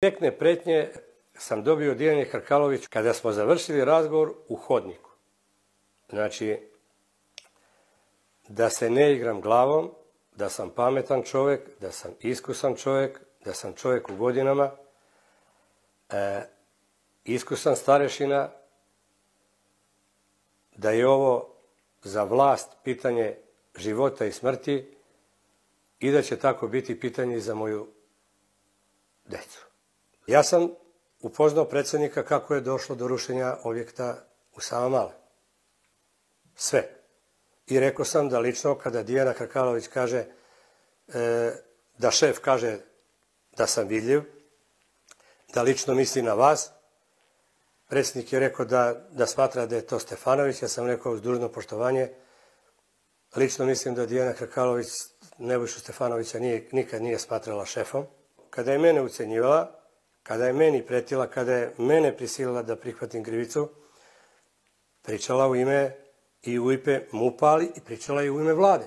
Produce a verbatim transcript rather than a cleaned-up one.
Direktne pretnje sam dobio od Dijane Hrkalović kada smo završili razgovor u hodniku. Znači, da se ne igram glavom, da sam pametan čovjek, da sam iskusan čovjek, da sam čovjek u godinama, e, iskusan starešina, da je ovo za vlast pitanje života i smrti i da će tako biti pitanje i za moju decu. Ja sam upoznao predsjednika kako je došlo do rušenja objekta u Savamale. Sve. I rekao sam da lično kada Dijana Hrkalović kaže, e, da šef kaže da sam vidljiv, da lično misli na vas, predsjednik je rekao da, da smatra da je to Stefanović, ja sam rekao uz dužno poštovanje, lično mislim da Dijana Hrkalović Nebojšu Stefanovića nije, nikad nije smatrala šefom. Kada je mene ucenjivala, kada je meni pretila, kada je mene prisilila da prihvatim krivicu, pričala u ime i u ime MUP-a, ali i pričala i u ime vlade.